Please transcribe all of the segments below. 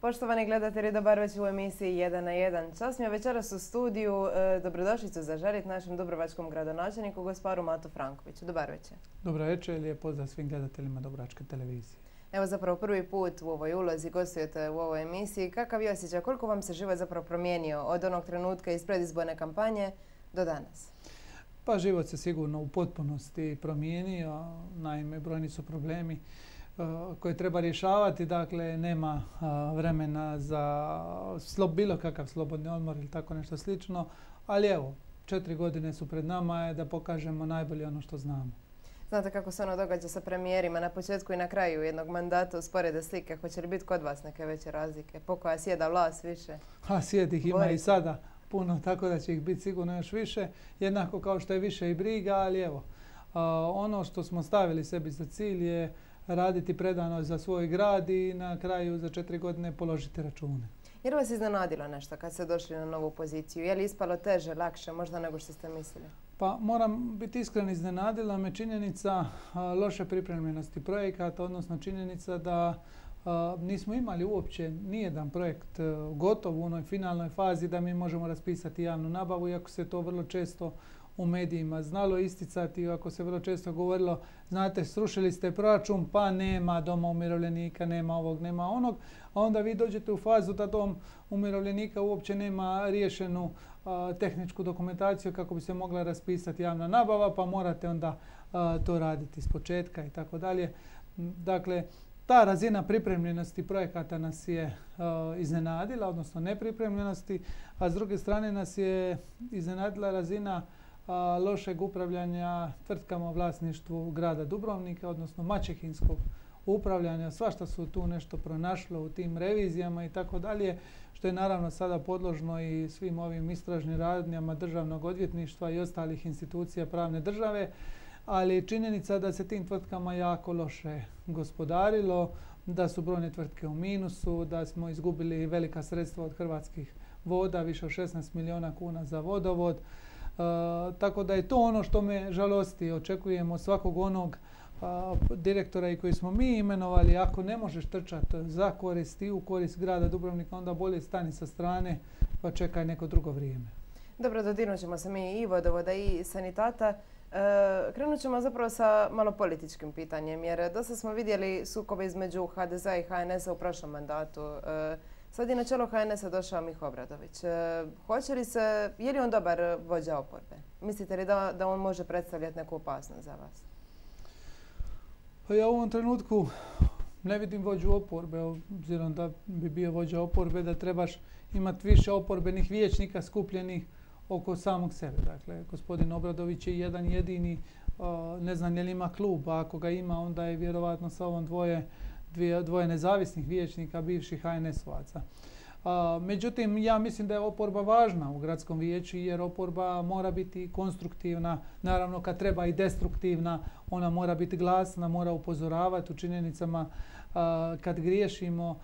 Poštovani gledatelji, dobar večer u emisiji 1 na 1. Čast mi je večeras u studiju dobrodošlicu zaželiti našem dubrovačkom gradonačelniku, gosparu Matu Frankoviću. Dobar večer. Dobar večer, lijep pozdrav svim gledateljima Dubrovačke televizije. Evo zapravo prvi put u ovoj ulozi gostujete u ovoj emisiji. Kakav je osjećaj? Koliko vam se život zapravo promijenio od onog trenutka iz predizborne kampanje do danas? Pa život se sigurno u potpunosti promijenio. Naime, brojni su problemi koje treba rješavati. Dakle, nema vremena za bilo kakav slobodni odmor ili tako nešto slično. Ali evo, 4 godine su pred nama da pokažemo najbolje ono što znamo. Znate kako se ono događa sa premijerima na početku i na kraju jednog mandata, usporede slike. Hoće li biti kod vas neke veće razlike? Po koja sjeda vlast više? Svijet ih ima i sada puno, tako da će ih biti sigurno još više. Jednako kao što je više i briga, ali evo, ono što smo stavili sebi za cilj je raditi predano za svoj grad i na kraju za 4 godine položiti račune. Je li vas iznenadilo nešto kad ste došli na novu poziciju? Je li ispalo teže, lakše možda nego što ste mislili? Pa moram biti iskren, iznenadila me činjenica loše pripremljenosti projekata, odnosno činjenica da nismo imali uopće nijedan projekt gotov u onoj finalnoj fazi da mi možemo raspisati javnu nabavu, iako se to vrlo često u medijima znalo isticati, iako se vrlo često govorilo, znate, srušili ste proračun, pa nema doma umirovljenika, nema ovog, nema onog, a onda vi dođete u fazu da dom umirovljenika uopće nema riješenu tehničku dokumentaciju kako bi se mogla raspisati javna nabava, pa morate onda to raditi iz početka i tako dalje. Dakle, ta razina pripremljenosti projekata nas je iznenadila, odnosno nepripremljenosti, a s druge strane nas je iznenadila razina lošeg upravljanja tvrtkama u vlasništvu grada Dubrovnika, odnosno maćehinskog upravljanja. Svašta su tu nešto pronašlo u tim revizijama i tako dalje, što je naravno sada podložno i svim ovim istražnim radnjama Državnog odvjetništva i ostalih institucija pravne države, ali činjenica da se tim tvrtkama jako loše gospodarilo, da su brojne tvrtke u minusu, da smo izgubili velika sredstva od Hrvatskih voda, više od 16 milijuna kuna za vodovod. Tako da je to ono što me žalosti. Očekujemo svakog onog direktora i koji smo mi imenovali, ako ne možeš trčati za korist i u korist grada Dubrovnika, onda bolje stani sa strane pa čekaj neko drugo vrijeme. Dobro, dodirnut ćemo se mi i vodovoda i sanitata. Krenut ćemo zapravo sa malo političkim pitanjem, jer dosta smo vidjeli sukobe između HDZ-a i HNS-a u prošlom mandatu. Sad je na čelo HNS-a došao Miho Obradović. Je li on dobar vođa oporbe? Mislite li da on može predstavljati neku opasnost za vas? Pa ja u ovom trenutku ne vidim vođu oporbe, obzirom da bi bio vođa oporbe, da trebaš imati više oporbenih vijećnika skupljenih oko samog sebe. Dakle, gospodin Obradović je jedan jedini, ne znam je li ima klub, a ako ga ima, onda je vjerovatno sa ovom dvoje nezavisnih vijećnika, bivših HNS-ovaca. Međutim, ja mislim da je oporba važna u gradskom vijeću jer oporba mora biti konstruktivna, naravno kad treba i destruktivna, ona mora biti glasna, mora upozoravati u činjenicama kad griješimo,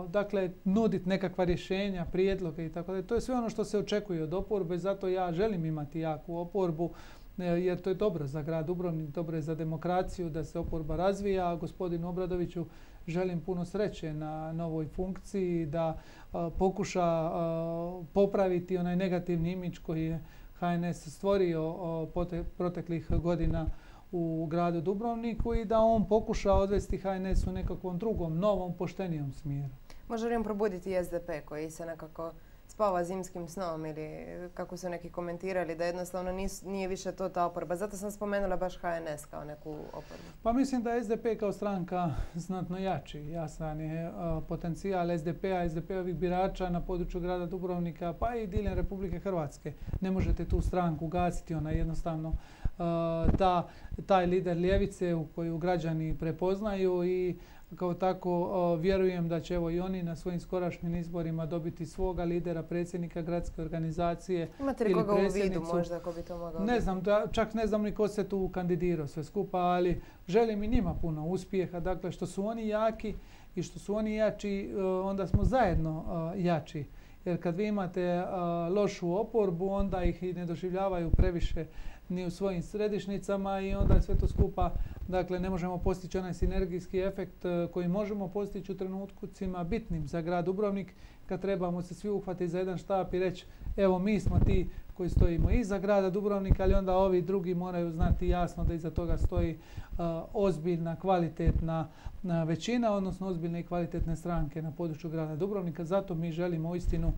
dakle nuditi nekakva rješenja, prijedloge i tako dalje. To je sve ono što se očekuje od oporbe, zato ja želim imati jaku oporbu jer to je dobro za grad Dubrovnik, dobro je za demokraciju da se oporba razvija, a gospodinu Obradoviću želim puno sreće na novoj funkciji, da pokuša popraviti onaj negativni imidž koji je HNS stvorio proteklih godina u gradu Dubrovniku i da on pokuša odvesti HNS u nekakvom drugom, novom, poštenijom smjeru. Može li on probuditi i SDP koji se nekako spava zimskim snom ili kako su neki komentirali da jednostavno nije više to ta oporba. Zato sam spomenula baš HNS kao neku oporbu. Pa mislim da je SDP kao stranka znatno jači. Jasan je potencijal SDP-a, SDP-ovih birača na području grada Dubrovnika pa i diljem Republike Hrvatske. Ne možete tu stranku gasiti, ona jednostavno taj lider ljevice u koju građani prepoznaju i kao tako vjerujem da će evo i oni na svojim skorašnjim izborima dobiti svoga lidera, predsjednika gradske organizacije. Imate li koga u vidu možda ko bi to mogao biti? Ne znam, čak ne znam ni ko se tu kandidirao sve skupa, ali želim i njima puno uspjeha. Dakle, što su oni jaki i što su oni jači, onda smo zajedno jači. Jer kad vi imate lošu oporbu, onda ih i ne doživljavaju previše ni u svojim središnjicama i onda je sve to skupa, dakle ne možemo postići onaj sinergijski efekt koji možemo postići u trenutcima bitnim za grad Dubrovnik, kad trebamo se svi uhvatiti za jedan štap i reći evo mi smo ti koji stojimo iza grada Dubrovnika, ali onda ovi drugi moraju znati jasno da iza toga stoji ozbiljna, kvalitetna većina, odnosno ozbiljne i kvalitetne stranke na području grada Dubrovnika. Zato mi želimo uistinu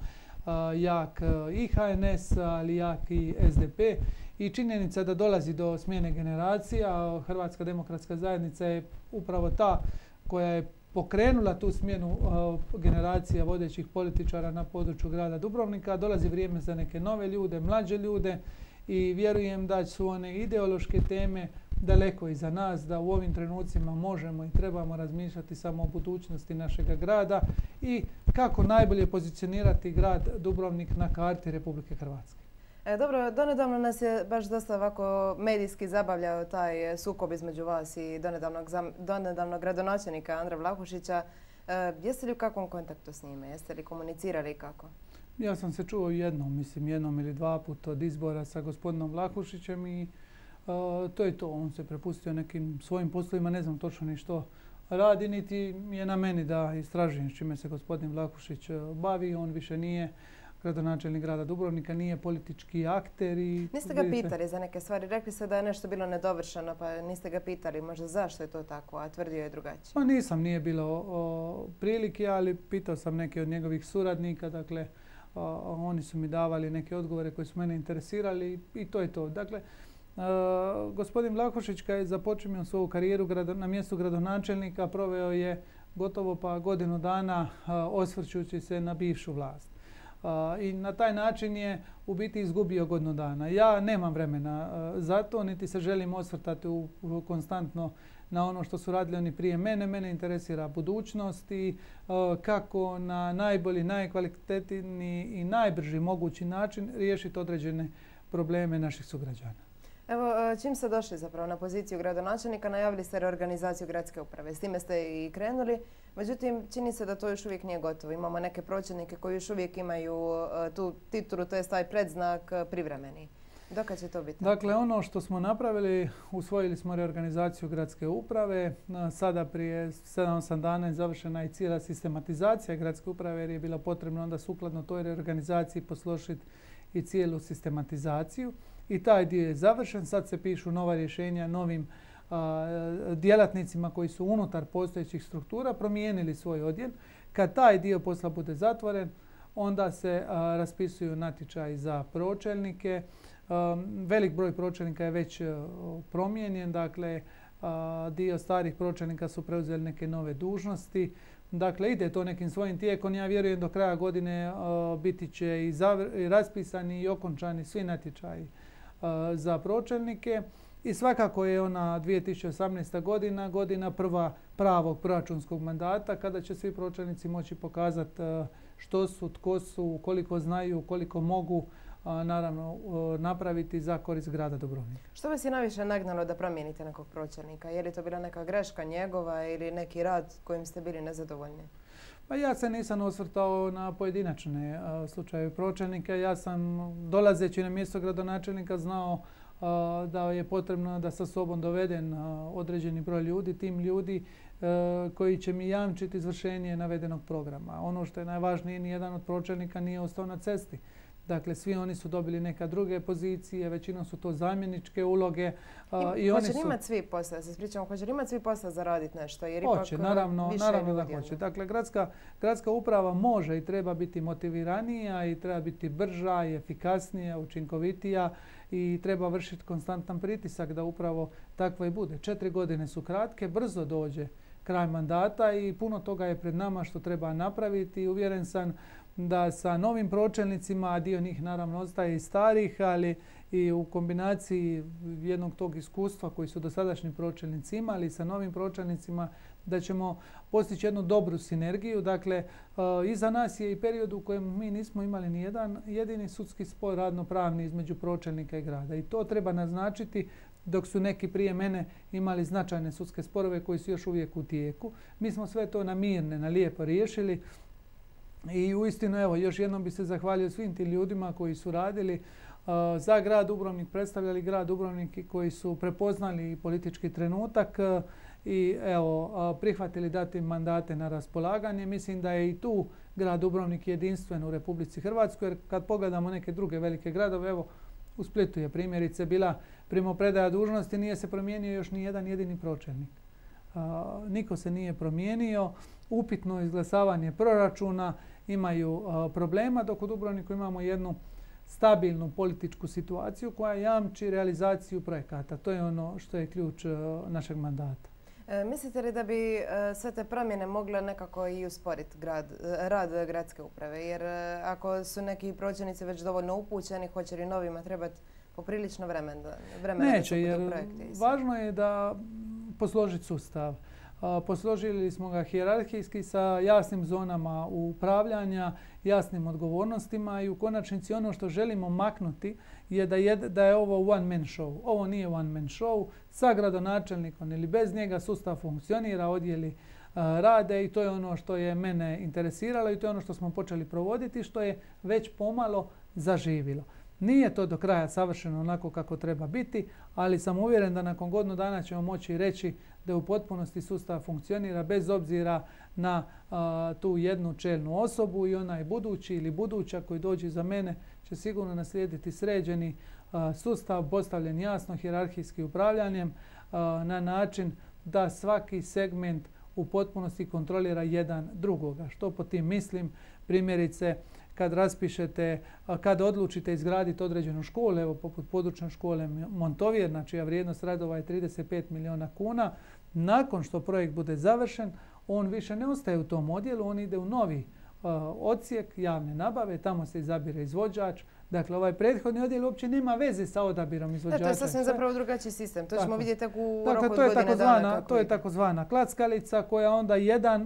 jak i HNS, ali jak i SDP. I činjenica da dolazi do smjene generacija, Hrvatska demokratska zajednica je upravo ta koja je pokrenula tu smjenu generacija vodećih političara na području grada Dubrovnika. Dolazi vrijeme za neke nove ljude, mlađe ljude i vjerujem da su one ideološke teme daleko iza nas, da u ovim trenucima možemo i trebamo razmišljati samo o budućnosti našega grada i kako najbolje pozicionirati grad Dubrovnik na karti Republike Hrvatske. Dobro, donedavno nas je baš dosta ovako medijski zabavljao taj sukob između vas i donedavnog gradonačelnika Andra Vlahušića. Jeste li u kakvom kontaktu s njime? Jeste li komunicirali kako? Ja sam se čuo jednom ili dva puta od izbora sa gospodinom Vlahušićem i to je to. On se prepustio nekim svojim poslovima, ne znam točno ni što radi, niti je na meni da istražujem s čime se gospodin Vlahušić bavi. On više nije gradonačelnik grada Dubrovnika, nije politički akter. Niste ga pitali za neke stvari? Rekli ste da je nešto bilo nedovršeno, pa niste ga pitali možda zašto je to tako, a tvrdio je drugačije. Pa nisam, nije bilo prilike, ali pitao sam neke od njegovih suradnika, dakle oni su mi davali neke odgovore koji su mene interesirali i to je to. Dakle, gospodin Vlahušić kad je započinio svoju karijeru na mjestu gradonačelnika proveo je gotovo pa godinu dana osvrćući se na bivšu vlast. I na taj način je u biti izgubio godinu dana. Ja nemam vremena za to, niti se želim osvrtati konstantno na ono što su radili oni prije mene. Mene interesira budućnost i kako na najbolji, najkvalitetniji i najbrži mogući način riješiti određene probleme naših sugrađana. Evo, čim ste došli zapravo na poziciju gradonačelnika, najavili ste reorganizaciju gradske uprave. S time ste i krenuli. Međutim, čini se da to još uvijek nije gotovo. Imamo neke pročelnike koji još uvijek imaju tu titulu, to je taj predznak privremeni. Dokad će to biti? Dakle, ono što smo napravili, usvojili smo reorganizaciju gradske uprave. Sada prije 7-8 dana je završena i cijela sistematizacija gradske uprave jer je bilo potrebno onda sukladno toj reorganizaciji posložiti i cijelu sistematizaciju. I taj dio je završen. Sad se pišu nova rješenja novim djelatnicima koji su unutar postojećih struktura promijenili svoj odjel. Kad taj dio posla bude zatvoren, onda se raspisuju natječaji za pročelnike. Velik broj pročelnika je već promijenjen, dakle dio starih pročelnika su preuzeli neke nove dužnosti. Dakle, ide to nekim svojim tijekom. Ja vjerujem do kraja godine biti će i raspisani i okončani svi natječaji za pročelnike. I svakako je ona 2018. godina prva pravog proračunskog mandata kada će svi pročelnici moći pokazati što su, tko su, koliko znaju, koliko mogu naravno napraviti za korist grada Dubrovnika. Što vas je najviše nagnalo da promijenite nekog pročelnika? Je li to bila neka greška njegova ili neki rad kojim ste bili nezadovoljni? Pa ja se nisam osvrtao na pojedinačne slučajeve pročelnika. Ja sam dolazeći na mjesto gradonačelnika znao da je potrebno da sa sobom doveden određeni broj ljudi, tim ljudi koji će mi jamčiti izvršenje navedenog programa. Ono što je najvažnije, nijedan od pročelnika nije ostao na cesti. Dakle, svi oni su dobili neka druge pozicije, većinom su to zamjeničke uloge. Hoće li imati svi posla, se spričamo, hoće li imati svi posla zaraditi nešto? Jer hoće, naravno da hoće. Dakle, gradska uprava može i treba biti motiviranija i treba biti brža i efikasnija, učinkovitija i treba vršiti konstantan pritisak da upravo takvo i bude. 4 godine su kratke, brzo dođe kraj mandata i puno toga je pred nama što treba napraviti i uvjeren sam da sa novim pročelnicima, a dio njih naravno ostaje i starih, ali i u kombinaciji jednog tog iskustva koji su dosadašnji pročelnici imali sa novim pročelnicima, da ćemo postići jednu dobru sinergiju. Dakle, iza nas je i period u kojem mi nismo imali ni jedan jedini sudski spor radno-pravni između pročelnika i grada. I to treba naznačiti, dok su neki prije mene imali značajne sudske sporove koji su još uvijek u tijeku. Mi smo sve to na mirne, na lijepo riješili. I uistinu, evo, još jednom bi se zahvalio svim tim ljudima koji su radili za grad Dubrovnik, predstavljali grad Dubrovnik i koji su prepoznali politički trenutak i evo, prihvatili dati mandate na raspolaganje. Mislim da je i tu grad Dubrovnik jedinstven u Republici Hrvatskoj, jer kad pogledamo neke druge velike gradove, evo u Splitu je primjerice bila primopredaja dužnosti, nije se promijenio još ni jedan jedini pročelnik. Niko se nije promijenio, upitno izglasavanje proračuna, imaju problema, dok u Dubrovniku imamo jednu stabilnu političku situaciju koja jamči realizaciju projekata. To je ono što je ključ našeg mandata. Mislite li da bi sve te promjene mogle nekako i usporiti rad gradske uprave? Jer ako su neki pročelnici već dovoljno upućeni, hoće li novima trebati poprilično vremena Neće, jer važno je da posložiti sustav. Posložili smo ga hijerarhijski sa jasnim zonama upravljanja, jasnim odgovornostima i u konačnici ono što želimo maknuti je da je ovo one man show. Ovo nije one man show. Sa gradonačelnikom ili bez njega sustav funkcionira, odjeli rade i to je ono što je mene interesiralo i to je ono što smo počeli provoditi, što je već pomalo zaživilo. Nije to do kraja savršeno onako kako treba biti, ali sam uvjeren da nakon godinu dana ćemo moći reći da u potpunosti sustav funkcionira bez obzira na tu jednu čelnu osobu i onaj budući ili buduća koji dođe za mene će sigurno naslijediti sređeni sustav postavljen jasno hijerarhijski upravljanjem na način da svaki segment u potpunosti kontrolira jedan drugoga. Što po tim mislim? Primjerice, kad raspišete, kad odlučite izgraditi određenu školu, evo poput područne škole Montovjerna, čija vrijednost radova je 35 milijuna kuna, nakon što projekt bude završen, on više ne ostaje u tom odjelu, on ide u novi odsjek javne nabave, tamo se izabire izvođač. Dakle, ovaj prethodni odjel uopće nema veze sa odabirom izvođača. To je sasvim zapravo drugačiji sistem. To ćemo vidjeti tek u roku od godine dana. To je takozvana klackalica koja onda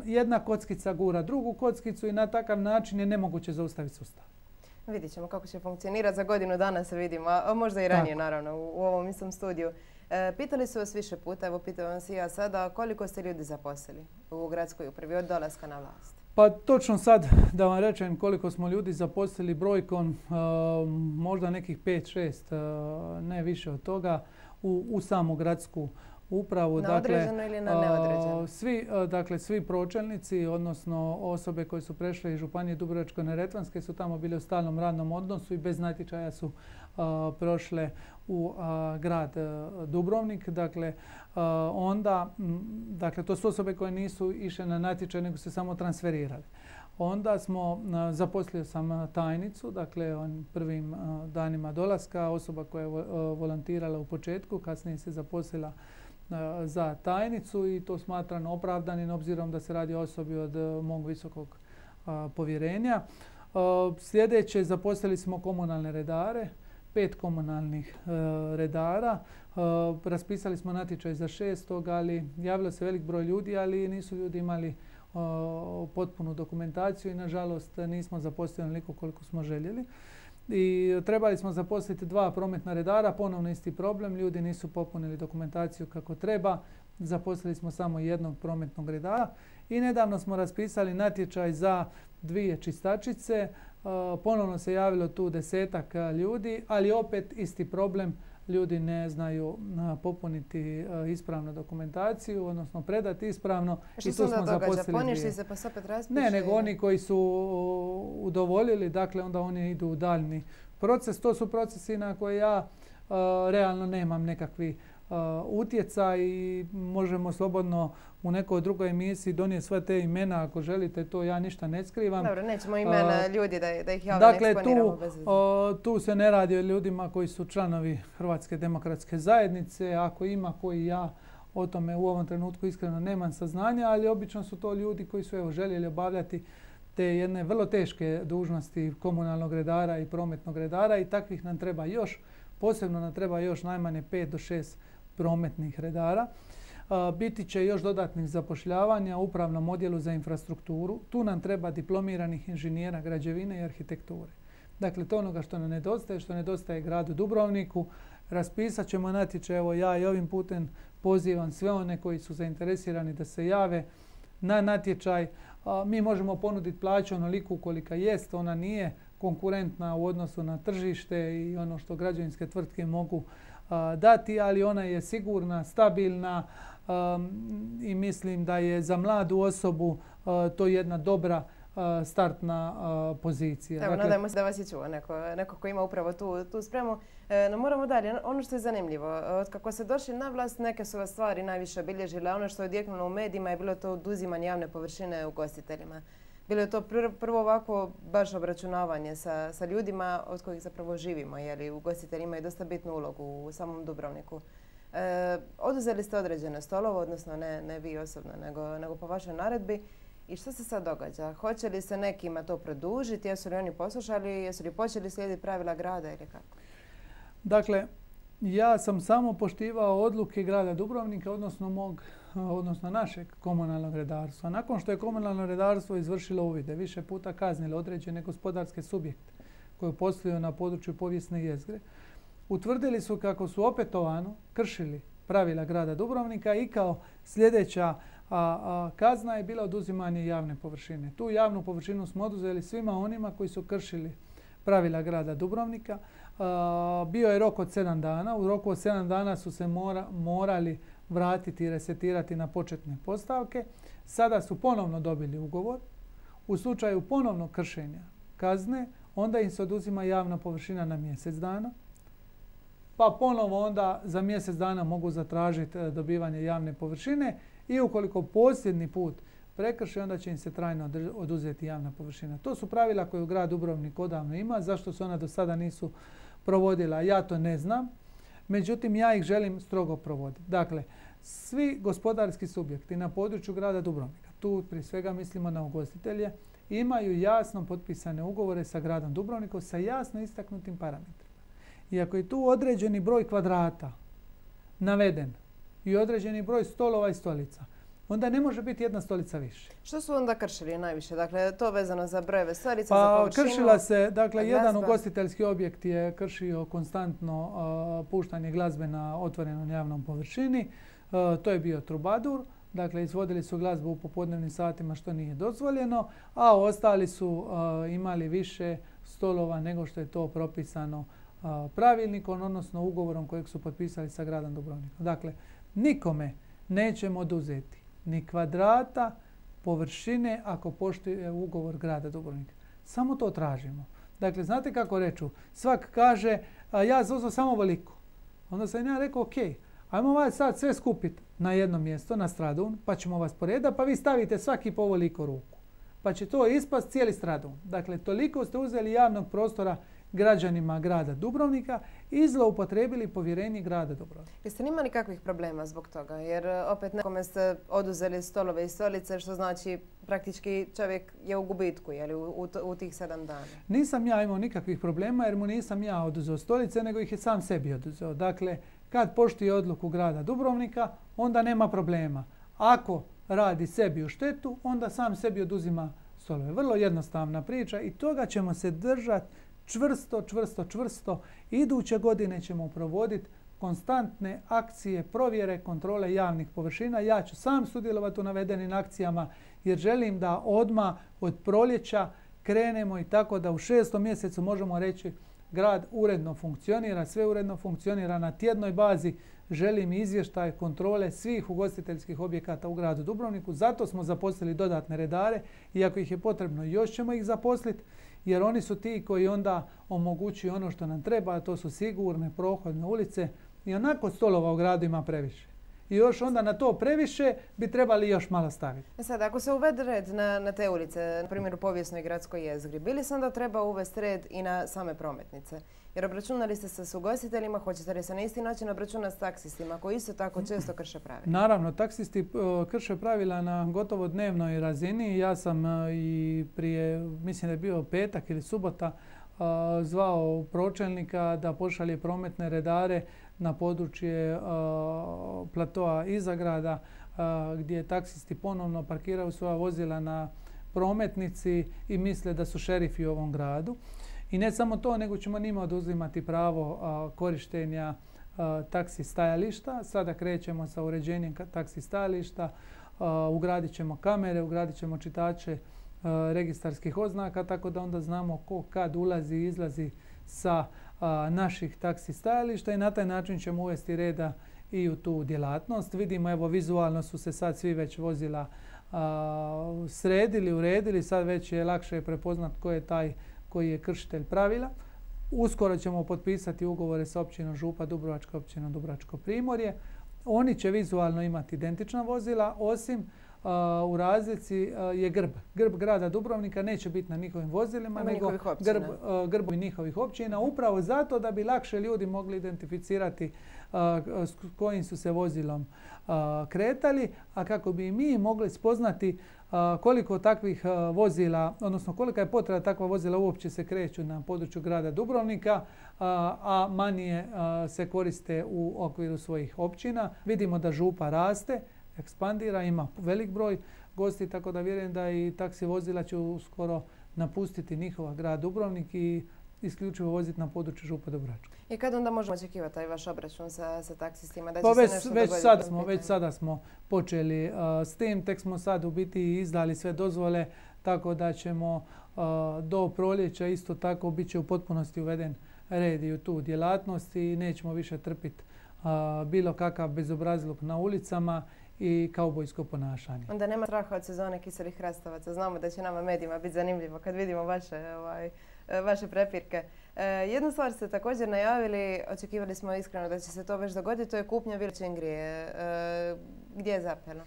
jedna kockica gura drugu kockicu i na takav način je nemoguće zaustaviti sustav. Vidjet ćemo kako će funkcionirati. Za godinu dana se vidimo, a možda i ranije naravno u ovom istom studiju. Pitali su vas više puta, evo pitam vas i ja sada, koliko ste ljudi zaposlili u gradskoj upravi od dolaska na vlast? Pa točno sad da vam rečem koliko smo ljudi zaposlili brojkom, možda nekih 5-6, ne više od toga, u samu gradsku upravu. Na određeno ili na neodređeno? Svi pročelnici, odnosno osobe koje su prešle iz Županije Dubrovačko-neretvanske su tamo bile u stalnom radnom odnosu i bez natječaja su prošle u grad Dubrovnik. Dakle, to su osobe koje nisu išle na natječaj nego se samo transferirali. Onda smo zaposlio sam tajnicu, dakle prvim danima dolaska, osoba koja je volontirala u početku, kasnije se zaposlila za tajnicu i to smatram opravdanim obzirom da se radi o osobi od mog visokog povjerenja. Sljedeće, zaposlili smo komunalne redare, 5 komunalnih redara. Raspisali smo natječaj za 6, ali javilo se velik broj ljudi, ali nisu ljudi imali potpunu dokumentaciju i nažalost nismo zaposlili onoliko koliko smo željeli. I trebali smo zaposliti 2 prometna redara, ponovno isti problem, ljudi nisu popunili dokumentaciju kako treba. Zaposlili smo samo 1 prometnog redara i nedavno smo raspisali natječaj za 2 čistačice. Ponovno se javilo tu 10-ak ljudi, ali opet isti problem. Ljudi ne znaju popuniti ispravno dokumentaciju, odnosno predati ispravno. Što se onda događa? Poništi se pa se opet raspiše? Ne, nego oni koji su udovoljili, dakle onda oni idu u daljni proces. To su procesi na koje ja realno nemam nekakvi utjecaj i možemo slobodno u nekoj drugoj emisiji donijeti sve te imena ako želite, to ja ništa ne skrivam. Dobro, nećemo imena ljudi da ih javno ne eksponiramo bez veze. Tu se ne radi o ljudima koji su članovi Hrvatske demokratske zajednice, ako ima koji ja o tome u ovom trenutku iskreno nemam saznanja, ali obično su to ljudi koji su željeli obavljati te jedne vrlo teške dužnosti komunalnog redara i prometnog redara i takvih nam treba još, posebno nam treba još najmanje 5 do 6 prometnih redara. Biti će još dodatnih zapošljavanja u upravnom odjelu za infrastrukturu. Tu nam treba diplomiranih inženjera građevine i arhitekture. Dakle, to onoga što nedostaje gradu Dubrovniku. Raspisat ćemo natječaj, evo ja i ovim putem pozivam sve one koji su zainteresirani da se jave na natječaj. Mi možemo ponuditi plaću onoliku kolika jest, ona nije konkurentna u odnosu na tržište i ono što građevinske tvrtke mogu dati, ali ona je sigurna, stabilna i mislim da je za mladu osobu to jedna dobra startna pozicija. Evo, nadajmo se da vas je čuo neko ko ima upravo tu spremu. No moramo dalje. Ono što je zanimljivo, od kako ste došli na vlast, neke su vas stvari najviše obilježile. Ono što je odjeknulo u medijima je bilo to oduzimanje javne površine ugostiteljima. Bilo je to prvo ovako baš obračunavanje sa ljudima od kojih zapravo živimo, jer ugostitelji imaju dosta bitnu ulogu u samom Dubrovniku. Oduzeli ste određene stolove, odnosno ne vi osobno, nego po vašoj naredbi. I što se sad događa? Hoće li se nekima to produžiti? Jesu li oni poslušali? Jesu li počeli slijediti pravila grada ili kako? Dakle, ja sam samo poštivao odluke grada Dubrovnika, odnosno našeg komunalnog redarstva. Nakon što je komunalno redarstvo izvršilo uvide, više puta kaznilo određene gospodarske subjekte koji posluju na području povijesne jezgre, utvrdili su kako su opetovano kršili pravila grada Dubrovnika i kao sljedeća kazna je bila oduzimanje javne površine. Tu javnu površinu smo oduzeli svima onima koji su kršili pravila grada Dubrovnika. Bio je rok od 7 dana. U roku od 7 dana su se morali vratiti i resetirati na početne postavke. Sada su ponovno dobili ugovor. U slučaju ponovnog kršenja kazne, onda im se oduzima javna površina na mjesec dana. Pa ponovo onda za mjesec dana mogu zatražiti dobivanje javne površine i ukoliko posljednji put prekrše, onda će im se trajno oduzeti javna površina. To su pravila koje grad Dubrovnik odavno ima. Zašto se ona do sada nisu provodila, ja to ne znam. Međutim, ja ih želim strogo provoditi. Dakle, svi gospodarski subjekti na području grada Dubrovnika, tu prije svega mislimo na ugostitelje, imaju jasno potpisane ugovore sa gradom Dubrovnikom sa jasno istaknutim parametrima. I ako je tu određeni broj kvadrata naveden i određeni broj stolova i stolica, onda ne može biti jedna stolica više. Što su onda kršili najviše? Dakle, to vezano za brojeve stolica, za površinu? Kršila se, dakle, jedan ugostiteljski objekt je kršio konstantno puštanje glazbe na otvorenom javnom površini. To je bio Trubadur. Dakle, izvodili su glazbu u popodnevnim satima što nije dozvoljeno, a ostali su imali više stolova nego što je to propisano pravilnikom, odnosno ugovorom kojeg su potpisali sa gradom Dubrovnikom. Dakle, nikome nećemo oduzeti ni kvadrata površine ako poštuje ugovor grada Dubrovnika. Samo to tražimo. Dakle, znate kako reču? Svak kaže, ja zauzeo samo veliko. Onda sam ja rekao, ok, ajmo vas sad sve skupiti na jedno mjesto, na Stradun, pa ćemo vas poredati, pa vi stavite svaki po ovoliko ruku. Pa će to ispast cijeli Stradun. Dakle, toliko ste uzeli javnog prostora građanima grada Dubrovnika i zloupotrijebili povjerenje grada Dubrovnika. Jeste li imali kakvih problema zbog toga? Jer opet nekome ste oduzeli stolove i stolice, što znači praktički čovjek je u gubitku u tih 7 dana. Nisam ja imao nikakvih problema jer mu nisam ja oduzeo stolice, nego ih je sam sebi oduzeo. Dakle, kad poštuje odluku grada Dubrovnika, onda nema problema. Ako radi sebi u štetu, onda sam sebi oduzima stolove. Vrlo jednostavna priča i toga ćemo se držati čvrsto. Iduće godine ćemo provoditi konstantne akcije, provjere, kontrole javnih površina. Ja ću sam sudjelovati u navedenim akcijama jer želim da odmah od proljeća krenemo i tako da u 6. mjesecu možemo reći grad uredno funkcionira, sve uredno funkcionira na tjednoj bazi. Želim izvještaj kontrole svih ugostiteljskih objekata u gradu Dubrovniku. Zato smo zaposlili dodatne redare i ako ih je potrebno još ćemo ih zaposliti jer oni su ti koji onda omogućuju ono što nam treba, a to su sigurne prohodne ulice i onako stolova u gradu ima previše. I još onda na to previše bi trebali još malo staviti. Sad, ako se uvede red na te ulice, na primjer u povijesnoj gradskoj jezgri, bi li se onda treba uvesti red i na same prometnice? Jer obračunali ste se s ugostiteljima, hoćete li se na isti način obračunati s taksistima koji isto tako često krše pravila? Naravno, taksisti krše pravila na gotovo dnevnoj razini. Ja sam i prije, mislim da je bio petak ili subota, zvao pročelnika da pošalje prometne redare na područje platoa iza grada gdje taksisti ponovno parkiraju svoja vozila na prometnici i misle da su šerifi u ovom gradu. I ne samo to, nego ćemo njima oduzimati pravo korištenja taksi stajališta. Sada krećemo sa uređenjem taksi stajališta, ugradit ćemo kamere, ugradit ćemo čitače registarskih oznaka, tako da onda znamo ko kad ulazi i izlazi sa naših taksi stajališta i na taj način ćemo uvesti reda i u tu djelatnost. Vidimo, evo, vizualno su se sad svi već vozila sredili, uredili, sad već je lakše prepoznat ko je taj koji je kršitelj pravila. Uskoro ćemo potpisati ugovore sa općinom Župa Dubrovačka, općinom Dubrovačko Primorje. Oni će vizualno imati identična vozila, osim u razlici je grb. Grb grada Dubrovnika neće biti na njihovim vozilima, nego grbovi njihovih općina, upravo zato da bi lakše ljudi mogli identificirati s kojim su se vozilom kretali, a kako bi mi mogli spoznati koliko takvih vozila, odnosno kolika je potreba takva vozila uopće se kreću na području grada Dubrovnika, a manje se koriste u okviru svojih općina. Vidimo da Župa raste, ekspandira, ima velik broj gosti, tako da vjerujem da i taksi vozila će uskoro napustiti njihova grad Dubrovnik i isključivo voziti na području Župa Dubrovačka. I kad onda možemo očekivati taj vaš obračun sa taksistima? Već sada smo počeli s tim, tek smo sad u biti izdali sve dozvole, tako da ćemo do proljeća isto tako bit će u potpunosti uveden red i u tu djelatnost i nećemo više trpiti bilo kakav bezobrazluk na ulicama i kaubojsko ponašanje. Onda nema straha od sezone kiselih hrastavaca. Znamo da će nama medijima biti zanimljivo kad vidimo vaše prepirke. Jednu stvar ste također najavili, očekivali smo iskreno da će se to već dogoditi, to je kupnja Vile Čingrije. Gdje je zapelo?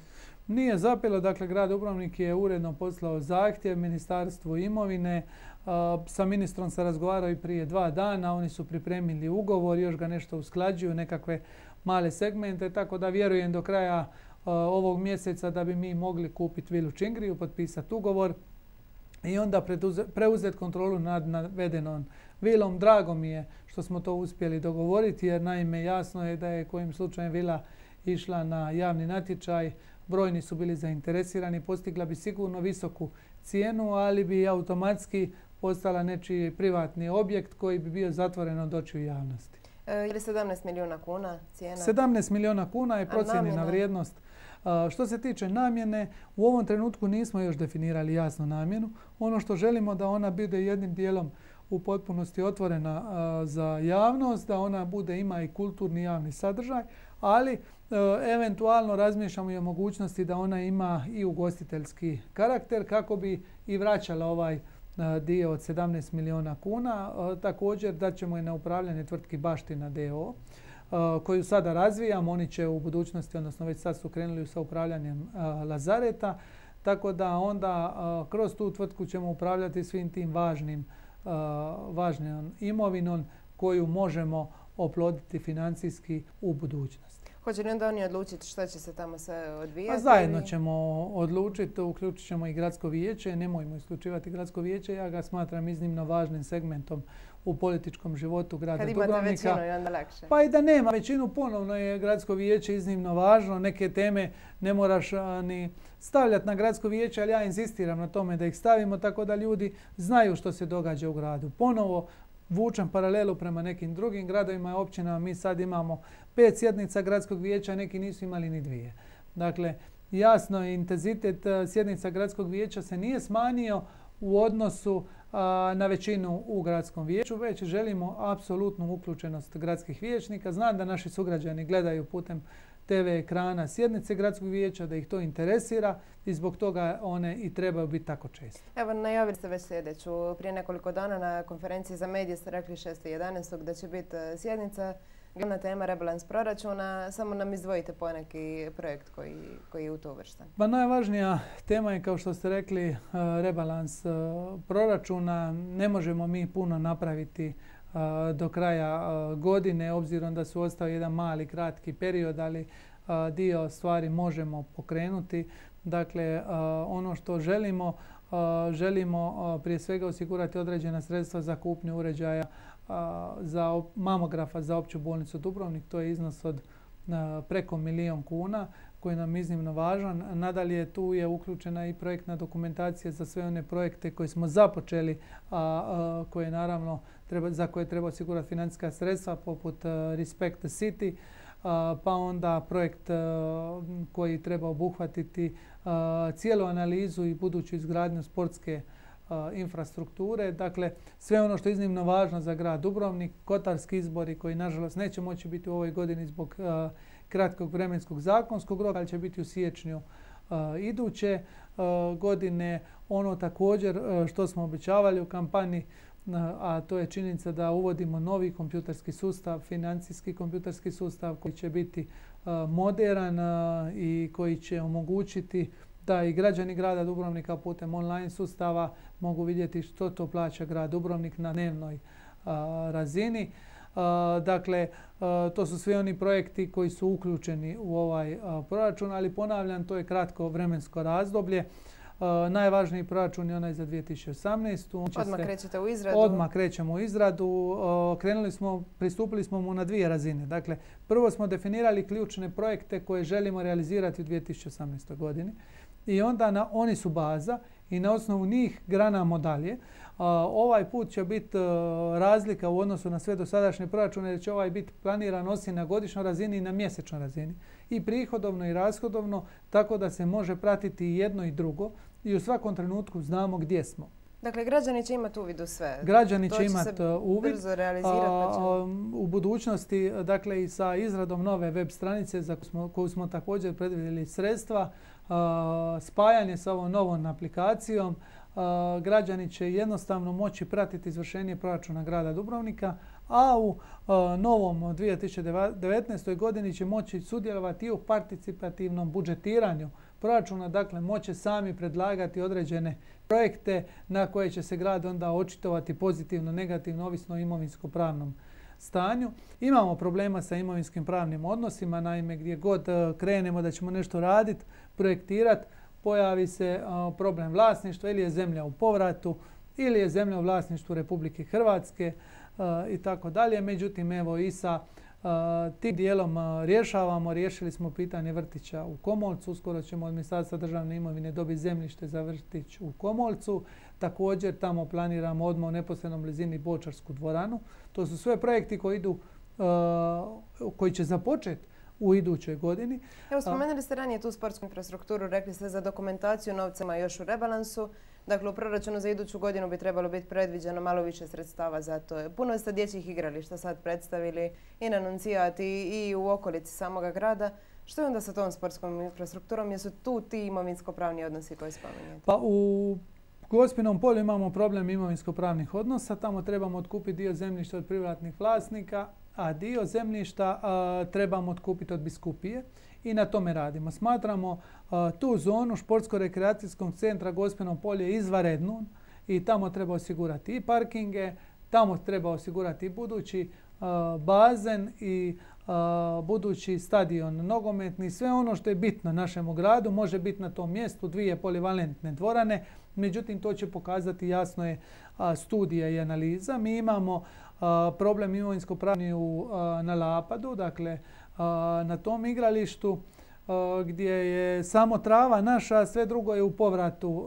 Nije zapelo, dakle grad Dubrovnik je uredno poslao zahtjev Ministarstvu imovine. Sa ministrom se razgovarao i prije 2 dana, oni su pripremili ugovor, još ga nešto usklađuju, nekakve male segmente, tako da vjerujem do kraja ovog mjeseca da bi mi mogli kupiti Vilu Čingriju, potpisati ugovor i onda preuzeti kontrolu nad navedenom vilom. Drago mi je što smo to uspjeli dogovoriti, jer naime jasno je da je kojim slučajem vila išla na javni natječaj, brojni su bili zainteresirani, postigla bi sigurno visoku cijenu, ali bi automatski postala nečiji privatni objekt koji bi bio zatvoren od očiju javnosti. Je li 17 milijuna kuna cijena? 17 milijuna kuna je procijenjena vrijednost. Što se tiče namjene, u ovom trenutku nismo još definirali jasno namjenu. Ono što želimo da ona bude jednim dijelom u potpunosti otvorena za javnost, da ona ima i kulturni javni sadržaj, ali eventualno razmišljamo i o mogućnosti da ona ima i ugostiteljski karakter kako bi i vraćala ovaj dio od 17 milijuna kuna. Također daćemo i na upravljanje tvrtki Baština d.o.o. koju sada razvijamo. Oni će u budućnosti, odnosno već sad su krenuli sa upravljanjem lazareta, tako da onda kroz tu tvrtku ćemo upravljati svim tim važnom imovinom koju možemo oploditi financijski u budućnosti. Hoće li onda oni odlučiti što će se tamo sve odvijati? Zajedno ćemo odlučiti, uključit ćemo i gradsko vijeće. Nemojmo isključivati gradsko vijeće, ja ga smatram iznimno važnim segmentom u političkom životu grada Dubrovnika. Kad imate većinu je onda lakše. Pa i da nema većinu, ponovno je gradsko vijeće iznimno važno. Neke teme ne moraš ni stavljati na gradsko vijeće, ali ja inzistiram na tome da ih stavimo tako da ljudi znaju što se događa u gradu. Ponovo vučem paralelu prema nekim drugim gradovima i općinama. Mi sad imamo 5 sjednica gradskog vijeća, neki nisu imali ni 2. Dakle, jasno intenzitet sjednica gradskog vijeća se nije smanjio u odnosu na većinu u gradskom vijeću, već želimo apsolutnu uključenost gradskih vijećnika. Znam da naši sugrađani gledaju putem TV ekrana sjednice gradskog vijeća, da ih to interesira i zbog toga one i trebaju biti tako često. Evo, najavili ste već sljedeću. Prije nekoliko dana na konferenciji za medije ste rekli 6.11. da će biti sjednica. Glavna tema rebalans proračuna. Samo nam izdvojite poneki projekt koji je u to uvršten. Pa najvažnija tema je, kao što ste rekli, rebalans proračuna. Ne možemo mi puno napraviti do kraja godine, obzirom da su ostao jedan mali, kratki period, ali dio stvari možemo pokrenuti. Dakle, ono što želimo prije svega osigurati određena sredstva za kupnju uređaja za mamografa za opću bolnicu Dubrovnik. To je iznos od preko 1 milijun kuna koji nam je iznimno važan. Nadalje, tu je uključena i projektna dokumentacija za sve one projekte koje smo započeli, za koje treba osigurati financijska sredstva poput Respect the City. pa onda projekt koji treba obuhvatiti cijelu analizu i buduću izgradnju sportske infrastrukture. Dakle, sve ono što je iznimno važno za grad Dubrovnik, kotarski izbori koji nažalost neće moći biti u ovoj godini zbog kratkog vremenskog zakonskog roka, ali će biti u siječnju iduće godine. Ono također što smo obećavali u kampanji, a to je činjenica da uvodimo novi kompjuterski sustav, financijski kompjuterski sustav koji će biti moderan i koji će omogućiti da i građani grada Dubrovnika putem online sustava mogu vidjeti što to plaća grad Dubrovnik na dnevnoj razini. Dakle, to su svi oni projekti koji su uključeni u ovaj proračun, ali ponavljam, to je kratko vremensko razdoblje. Najvažniji proračun je onaj za 2018. Odmah krećete u izradu? Odmah krećemo u izradu. Pristupili smo mu na dvije razine. Dakle, prvo smo definirali ključne projekte koje želimo realizirati u 2018. godini i onda oni su baza i na osnovu njih granamo dalje. Ovaj put će biti razlika u odnosu na sve dosadašnje proračune jer će ovaj biti planiran osim na godišnjoj razini i na mjesečnoj razini. I prihodovno i rashodovno, tako da se može pratiti i jedno i drugo i u svakom trenutku znamo gdje smo. Dakle, građani će imati uvid u sve. Građani će imati uvid. Brzo realizirati. U budućnosti, dakle i sa izradom nove web stranice za koju smo također predvidjeli sredstva, spajanje sa ovom novom aplikacijom, građani će jednostavno moći pratiti izvršenje proračuna grada Dubrovnika, a u novom 2019. godini će moći sudjelovati i u participativnom budžetiranju proračuna, dakle moće sami predlagati određene projekte na koje će se grad onda očitovati pozitivno, negativno, ovisno o imovinsko-pravnom stanju. Imamo problema sa imovinskim pravnim odnosima, naime gdje god krenemo da ćemo nešto raditi, projektirati, pojavi se problem vlasništva, ili je zemlja u povratu, ili je zemlja u vlasništvu Republike Hrvatske i tako dalje. Međutim, evo i sa tim dijelom riješili smo pitanje vrtića u Komolcu. Uskoro ćemo od Ministarstva državne imovine dobiti zemljište za vrtić u Komolcu. Također tamo planiramo odmah u neposrednom blizini Bočarsku dvoranu. To su sve projekti koji će započeti u idućoj godini. Evo, spomenuli ste ranije tu sportsku infrastrukturu, rekli ste za dokumentaciju novcima još u rebalansu. Dakle, u proračunu za iduću godinu bi trebalo biti predviđeno malo više sredstava za to. Puno ste dječjih igrališta sad predstavili i na Nuncijati i u okolici samoga grada. Što je onda sa tom sportskom infrastrukturom? Jesu tu ti imovinsko-pravni odnosi koji spominjete? Pa u Gospinom polju imamo problem imovinsko-pravnih odnosa. Tamo trebamo otkupiti dio zemljišta od privatnih vlasnika, a dio zemljišta trebamo otkupiti od biskupije i na tome radimo. Smatramo tu zonu športsko-rekreacijskog centra Gospino polje izvanrednu i tamo treba osigurati i parkinge, tamo treba osigurati i budući bazen i budući stadion nogometni. Sve ono što je bitno našemu gradu može biti na tom mjestu, 2 polivalentne dvorane. Međutim, to će pokazati jasno je studija i analiza. Mi imamo problem imovinsko-pravni na Lapadu, dakle na tom igralištu gdje je samo trava naša, sve drugo je u povratu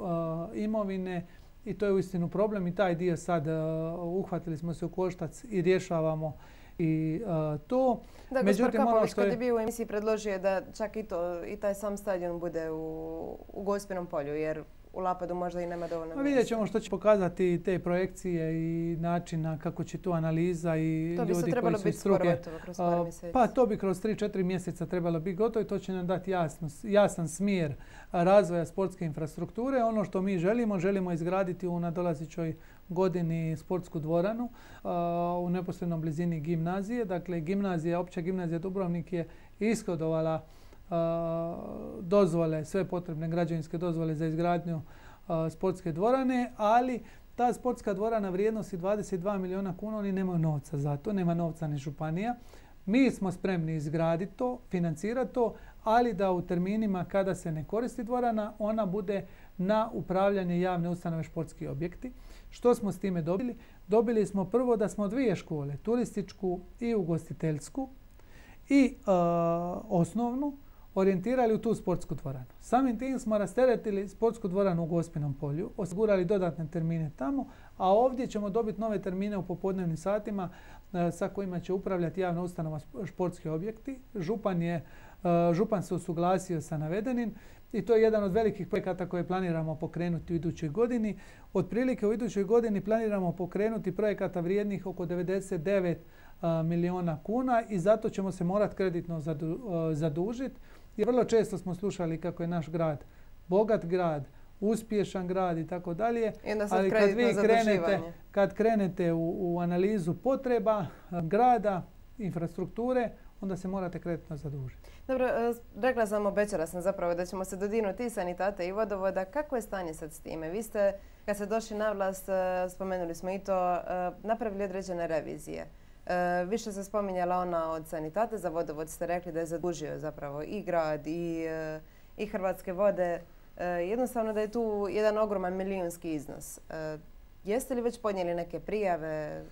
imovine i to je uistinu problem i taj dio sad uhvatili smo se u koštac i rješavamo i to. Da, gospodin Kapović kad je bio u emisiji predložio da čak i taj sam stadion bude u Gospinom polju, jer u Lapadu možda i nema dovoljno mjesta. Vidjet ćemo što će pokazati te projekcije i načina kako će tu analiza i ljudi koji su iz struke. To bi se trebalo biti skoro gotovo kroz par mjeseci. Pa to bi kroz 3-4 mjeseca trebalo biti gotovo i to će nam dati jasan smjer razvoja sportske infrastrukture. Ono što mi želimo izgraditi u nadolazećoj godini sportsku dvoranu u neposrednom blizini gimnazije. Dakle, opća gimnazija Dubrovnik je ishodovala dozvole, sve potrebne građevinske dozvole za izgradnju sportske dvorane, ali ta sportska dvorana vrijednosti 22 milijuna kuna, oni nemaju novca za to, nema novca ni županija. Mi smo spremni izgraditi to, financirati to, ali da u terminima kada se ne koristi dvorana, ona bude na upravljanje javne ustanove športski objekti. Što smo s time dobili? Dobili smo prvo da smo 2 škole, turističku i ugostiteljsku i osnovnu, orijentirali u tu sportsku dvoranu. Samim tim smo rasteretili sportsku dvoranu u Gospinom polju, osigurali dodatne termine tamo, a ovdje ćemo dobiti nove termine u popodnevnim satima sa kojima će upravljati javna ustanova športski objekti. Župan se usuglasio sa navedenim i to je jedan od velikih projekata koje planiramo pokrenuti u idućoj godini. Otprilike u idućoj godini planiramo pokrenuti projekata vrijednih oko 99 milijuna kuna i zato ćemo se morati kreditno zadužiti. Jer vrlo često smo slušali kako je naš grad bogat grad, uspješan grad i tako dalje. Ali kad krenete u analizu potreba grada, infrastrukture, onda se morate kreditno zadužiti. Dobro, rekla sam, obećala sam zapravo da ćemo se dodirnuti i sanitate i vodovoda. Kako je stanje sad s time? Vi ste, kad ste došli na vlast, spomenuli smo i to, napravili određene revizije. Više se spominjala ona od sanitate, za vodovod ste rekli da je zadužio zapravo i grad i Hrvatske vode. Jednostavno da je tu jedan ogroman milijunski iznos. Jeste li već podnijeli neke prijave?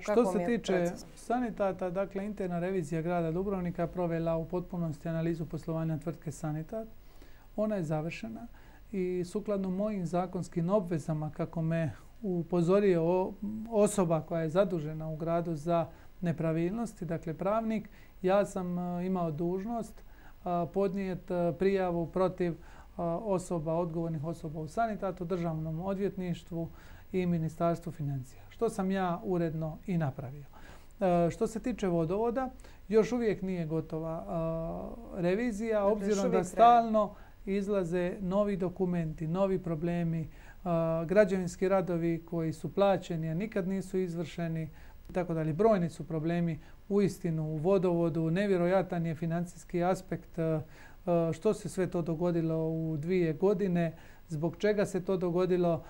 Što se tiče sanitata, dakle interna revizija grada Dubrovnika provela u potpunosti analizu poslovanja tvrtke Sanitat. Ona je završena i sukladno mojim zakonskim obvezama, kako me upozorio osoba koja je zadužena u gradu za nepravilnosti, dakle pravnik, ja sam imao dužnost podnijeti prijavu protiv odgovornih osoba u Sanitatu, Državnom odvjetništvu i Ministarstvu financija, što sam ja uredno i napravio. Što se tiče vodovoda, još uvijek nije gotova revizija, obzirom da stalno izlaze novi dokumenti, novi problemi, građevinski radovi koji su plaćeni, a nikad nisu izvršeni, tako dalje. Brojni su problemi uistinu u vodovodu, nevjerojatan je financijski aspekt. Što se sve to dogodilo u 2 godine, zbog čega se to dogodilo,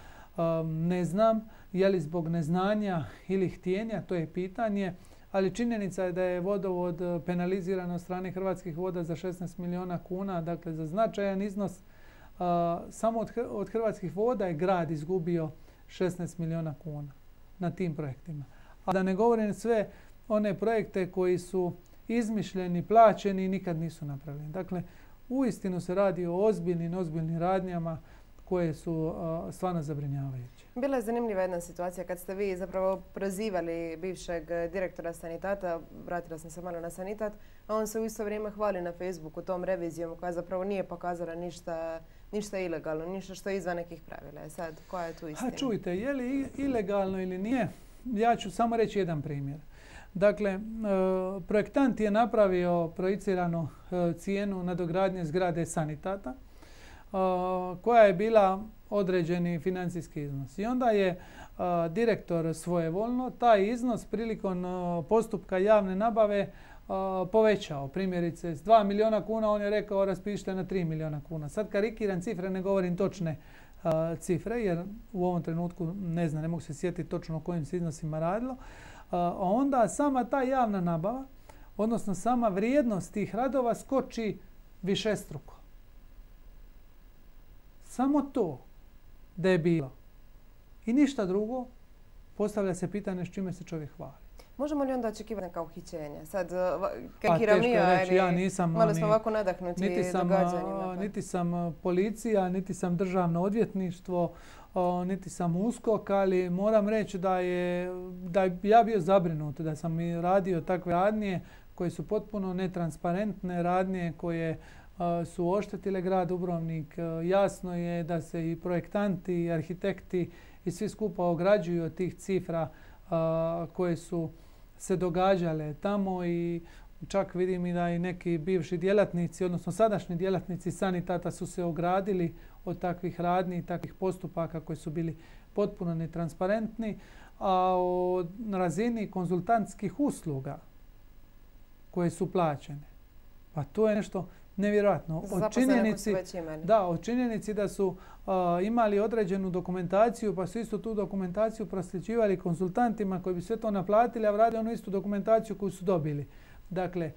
ne znam. Je li zbog neznanja ili htjenja, to je pitanje. Ali činjenica je da je vodovod penaliziran od strane Hrvatskih voda za 16 milijuna kuna, dakle za značajan iznos. Samo od Hrvatskih voda je grad izgubio 16 milijuna kuna na tim projektima. A da ne govorim sve one projekte koji su izmišljeni, plaćeni i nikad nisu napravljeni. Dakle, uistinu se radi o ozbiljnim radnjama koje su stvarno zabrinjavajuće. Bila je zanimljiva jedna situacija kad ste vi zapravo prozivali bivšeg direktora Sanitata, vratila sam se malo na Sanitat, a on se u isto vrijeme hvali na Facebooku tom revizijom koja zapravo nije pokazala ništa ilegalno, ništa što je izvan nekih pravila. Sad, koja je tu istina? Čujte, je li ilegalno ili nije? Ja ću samo reći jedan primjer. Dakle, projektant je napravio projiciranu cijenu nadogradnje zgrade Sanitata koja je bila određeni financijski iznos. I onda je direktor svojevoljno taj iznos prilikom postupka javne nabave povećao. Primjerice, s 2 milijuna kuna on je rekao raspišite na 3 milijuna kuna. Sad karikiram cifre, ne govorim točne cifre jer u ovom trenutku ne mogu se sjetiti točno o kojim se iznosima radilo. Onda sama ta javna nabava, odnosno sama vrijednost tih radova skoči višestruko. Samo to da je bilo. I ništa drugo, postavlja se pitanje s čime se čovjek hvali. Možemo li onda očekivati neka uhićenja? Sad, teško je reći, ja nisam malo smo ovako nadahnuti događanjima. Niti sam policija, niti sam državno odvjetništvo, niti sam USKOK, ali moram reći da ja bio zabrinut da sam i radio takve radnje koje su potpuno netransparentne radnje, koje su oštetile grad Dubrovnik. Jasno je da se i projektanti i arhitekti i svi skupa ograđuju od tih cifra koje su se događale tamo i čak vidim i da i neki bivši djelatnici, odnosno sadašnji djelatnici Sanitata su se ogradili od takvih radnji i takvih postupaka koji su bili potpuno netransparentni, a o razini konzultantskih usluga koje su plaćene. Pa to je nešto nevjerojatno. O činjenici da su imali određenu dokumentaciju, pa su istu tu dokumentaciju prosljeđivali konsultantima koji bi sve to naplatili, a vratili onu istu dokumentaciju koju su dobili. Dakle,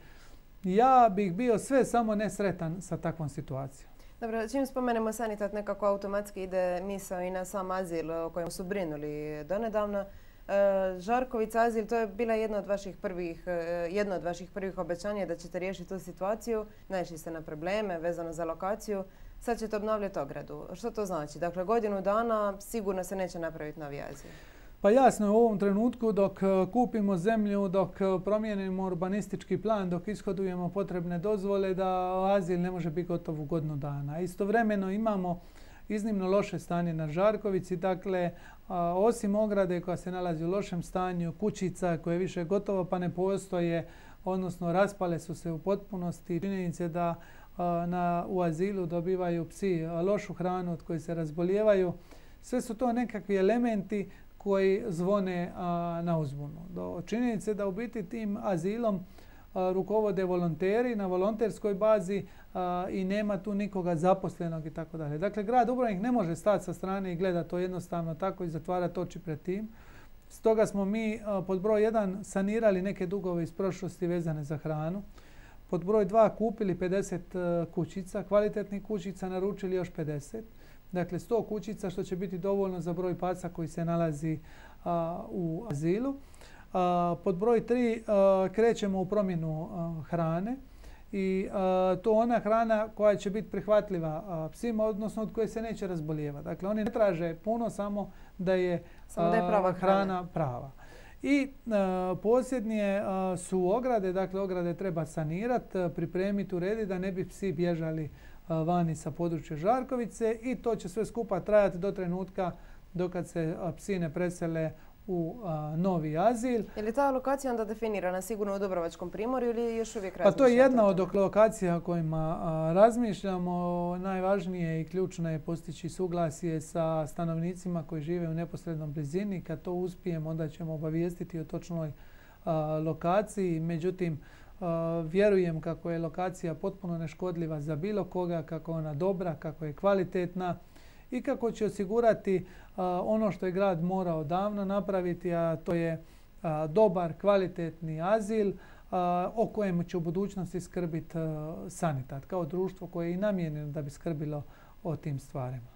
ja bih bio sve samo nesretan sa takvom situacijom. Dobro, čim spomenemo Sanitat, nekako automatski ide misao i na sam azil o kojem su brinuli donedavno. Žarkovica azil, to je bila jedno od vaših prvih obećanja da ćete riješiti tu situaciju. Naišli ste na probleme vezano za lokaciju. Sad ćete obnavljati ogradu. Što to znači? Dakle, godinu dana sigurno se neće napraviti novi azil. Pa jasno je u ovom trenutku dok kupimo zemlju, dok promijenimo urbanistički plan, dok ishodujemo potrebne dozvole da azil ne može biti gotov u godinu dana. Istovremeno imamo iznimno loše stanje na Žarkovici, dakle osim ograde koja se nalazi u lošem stanju, kućica koje više gotovo pa ne postoje, odnosno raspale su se u potpunosti. Činjenice da u azilu dobivaju psi lošu hranu od koje se razbolijevaju. Sve su to nekakvi elementi koji zvone na uzbunu. Do činjenice da u biti tim azilom rukovode volonteri na volonterskoj bazi i nema tu nikoga zaposlenog i tako dalje. Dakle, grad Dubrovnik ne može stati sa strane i gledati to jednostavno tako i zatvarati oči pred tim. Stoga smo mi pod broj 1 sanirali neke dugove iz prošlosti vezane za hranu. Pod broj 2 kupili 50 kućica, kvalitetnih kućica, naručili još 50. Dakle, 100 kućica što će biti dovoljno za broj paca koji se nalazi u azilu. Pod broj 3 krećemo u promjenu hrane i to ona hrana koja će biti prihvatljiva psima, odnosno od koje se neće razbolijevati. Dakle, oni ne traže puno, samo da je hrana prava. I posljednje su ograde, dakle ograde treba sanirati, pripremiti, urediti da ne bi psi bježali vani sa područja Žarkovice i to će sve skupa trajati do trenutka dokad se psi ne presele u novi azil. Je li ta lokacija onda definirana sigurno u Dubrovačkom primorju ili još uvijek razmišljate? Pa to je jedna od lokacija o kojima razmišljamo. Najvažnije i ključno je postići suglasje sa stanovnicima koji žive u neposrednom blizini. Kad to uspijemo, onda ćemo obavijestiti o točnoj lokaciji. Međutim, vjerujem kako je lokacija potpuno neškodljiva za bilo koga, kako je ona dobra, kako je kvalitetna i kako će osigurati ono što je grad morao davno napraviti, a to je dobar, kvalitetni azil o kojemu će u budućnosti skrbiti Sanitat kao društvo koje je i namijenjeno da bi skrbilo o tim stvarima.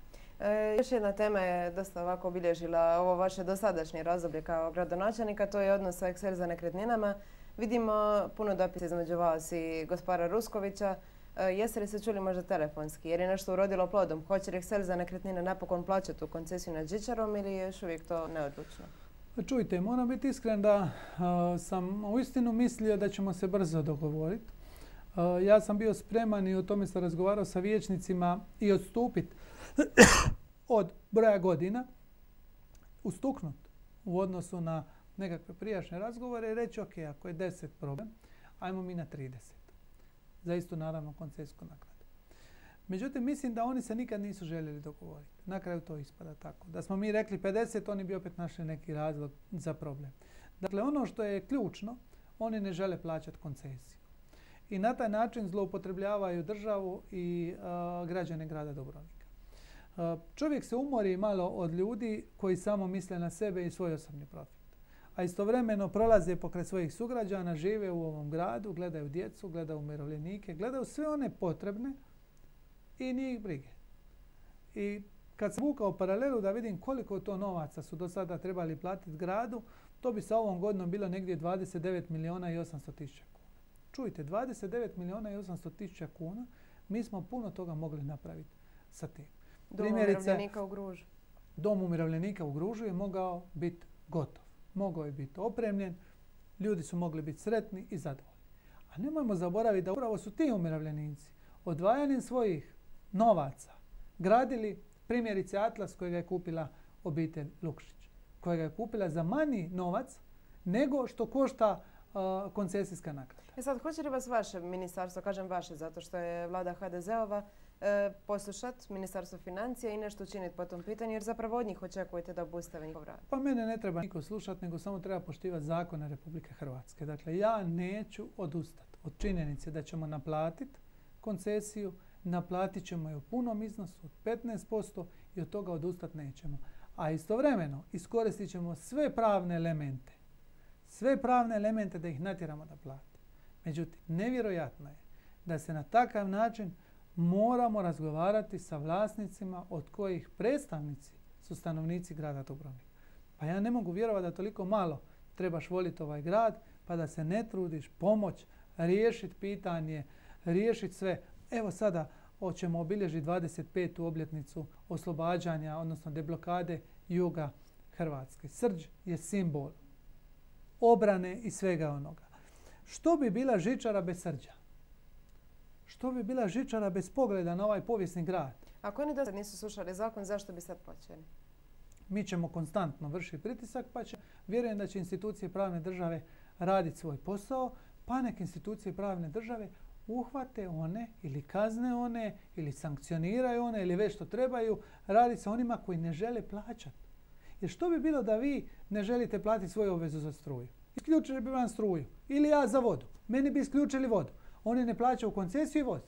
Još jedna tema je dosta ovako obilježila ovo vaše dosadašnje razdoblje kao gradonačelnika, to je odnos sa Excelza nekretninama. Vidimo puno dopisa između vas i gospodara Ruskovića. Jeste li se čuli možda telefonski? Jer je nešto urodilo plodom? Hoće li Excelza nekretnine napokon plaćati tu koncesiju nad žičarom ili je još uvijek to neodlučno? Čujte, moram biti iskren da sam uistinu mislio da ćemo se brzo dogovoriti. Ja sam bio spreman i o tome sam razgovarao sa vijećnicima i odstupiti od broja godina, ustuknut u odnosu na nekakve prijašnje razgovore i reći ok, ako je 10 problem, ajmo mi na 30. Za istu naravno koncesijsku naknadu. Međutim, mislim da oni se nikad nisu željeli dogovoriti. Na kraju to ispada tako. Da smo mi rekli 50, oni bi opet našli neki razlog za problem. Dakle, ono što je ključno, oni ne žele plaćati koncesiju. I na taj način zloupotrebljavaju državu i građane grada Dubrovnika. Čovjek se umori malo od ljudi koji samo misle na sebe i svoj osobni profit. A istovremeno prolaze pokraj svojih sugrađana, žive u ovom gradu, gledaju djecu, gledaju umirovljenike, gledaju sve one potrebne i nije ih brige. I kad sam vukao paralelu da vidim koliko to novaca su do sada trebali platiti gradu, to bi sa ovom godinom bilo negdje 29 milijuna i 800 tisuća kuna. Čujte, 29 milijuna i 800 tisuća kuna, mi smo puno toga mogli napraviti sa tim. Dom umirovljenika u Gružu. Dom umirovljenika u Gružu je mogao biti gotov. Mogao je biti opremljen, ljudi su mogli biti sretni i zadovoljni. A nemojmo zaboraviti da upravo su ti umirovljenici odvajanjem svojih novaca gradili primjerice Atlas kojega je kupila obitelj Lukšić, kojega je kupila za manji novac nego što košta koncesijska naknada. Sad, hoće li vas vaše ministarstvo, kažem vaše zato što je vlada HDZ-ova, poslušati Ministarstvo financija i nešto učiniti po tom pitanju, jer zapravo od njih očekujete da obustave njihov rad? Pa mene ne treba niko slušati, nego samo treba poštivati zakone Republike Hrvatske. Dakle, ja neću odustati od činjenice da ćemo naplatiti koncesiju, naplatit ćemo je u punom iznosu od 15% i od toga odustati nećemo. A istovremeno iskoristit ćemo sve pravne elemente da ih natjeramo da plate. Međutim, nevjerojatno je da se na takav način moramo razgovarati sa vlasnicima od kojih predstavnici su stanovnici grada Dubrovnika. Pa ja ne mogu vjerovati da toliko malo trebaš voliti ovaj grad, pa da se ne trudiš pomoć, riješiti pitanje, riješiti sve. Evo sada ćemo obilježiti 25. obljetnicu oslobađanja, odnosno deblokade juga Hrvatske. Srđ je simbol obrane i svega onoga. Što bi bila žičara bez Srđa? Što bi bila žičara bez pogleda na ovaj povijesni grad? Ako oni do sad nisu slušali zakon, zašto bi sad počeli? Mi ćemo konstantno vršiti pritisak, pa vjerujem da će institucije pravne države raditi svoj posao, pa nek institucije pravne države uhvate one ili kazne one ili sankcioniraju one ili već što trebaju raditi sa onima koji ne žele plaćati. Jer što bi bilo da vi ne želite platiti svoju obvezu za struju? Isključili bi vam struju. Ili ja za vodu. Meni bi isključili vodu. Oni ne plaćaju koncesiju i voze.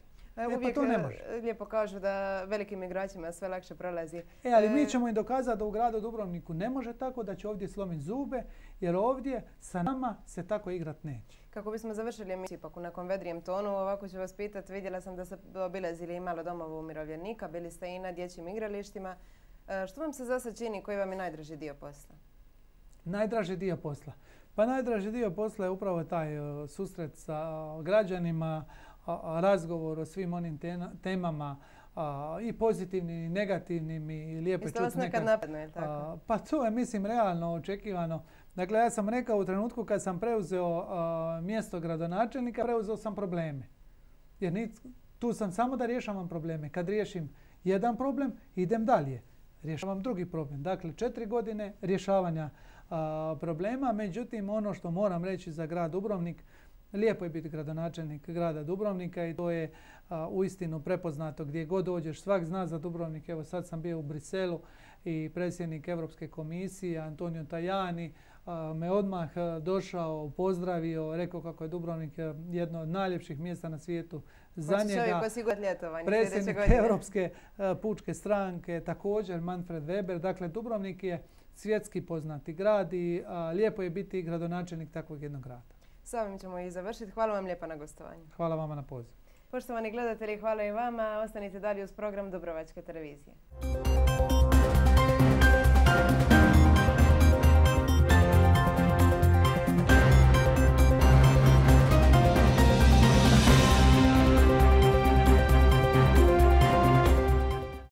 Uvijek pa to ne može. Lijepo kažu da velikim igračima sve lakše prolazi. Ali mi ćemo im dokazati da u gradu Dubrovniku ne može tako, da će ovdje slomiti zube, jer ovdje sa nama se tako igrat neće. Kako bismo završili emisiju ipak u nekom vedrijem tonu, ovako ću vas pitati, vidjela sam da ste obilazili i malo domova umirovljenika, bili ste i na dječjim igralištima. Što vam se za sad čini, koji vam je najdraži dio posla? Najdraži dio posla? Pa najdraži dio posla je upravo taj susret sa građanima, razgovor o svim onim temama, i pozitivnim i negativnim, i lijepo čuti. Isto vas nekad napadne, je tako? Pa to je, mislim, realno očekivano. Dakle, ja sam rekao u trenutku kad sam preuzeo mjesto gradonačelnika, preuzeo sam probleme. Jer tu sam samo da rješavam probleme. Kad riješim jedan problem, idem dalje. Rješavam drugi problem. Dakle, 4 godine rješavanja problema. Međutim, ono što moram reći za grad Dubrovnik, lijepo je biti gradonačelnik grada Dubrovnika i to je uistinu prepoznato gdje god dođeš. Svak zna za Dubrovnik. Evo sad sam bio u Briselu i predsjednik Europske komisije Antonio Tajani me odmah došao, pozdravio, rekao kako je Dubrovnik jedno od najljepših mjesta na svijetu za njega. Predsjednik Europske pučke stranke, također Manfred Weber. Dakle, Dubrovnik je svjetski poznati grad i lijepo je biti gradonačelnik takvog jednog grada. S ovim ćemo i završiti. Hvala vam lijepa na gostovanju. Hvala vama na pozivu. Poštovani gledatelji, hvala i vama. Ostanite dalje uz program Dubrovačke televizije.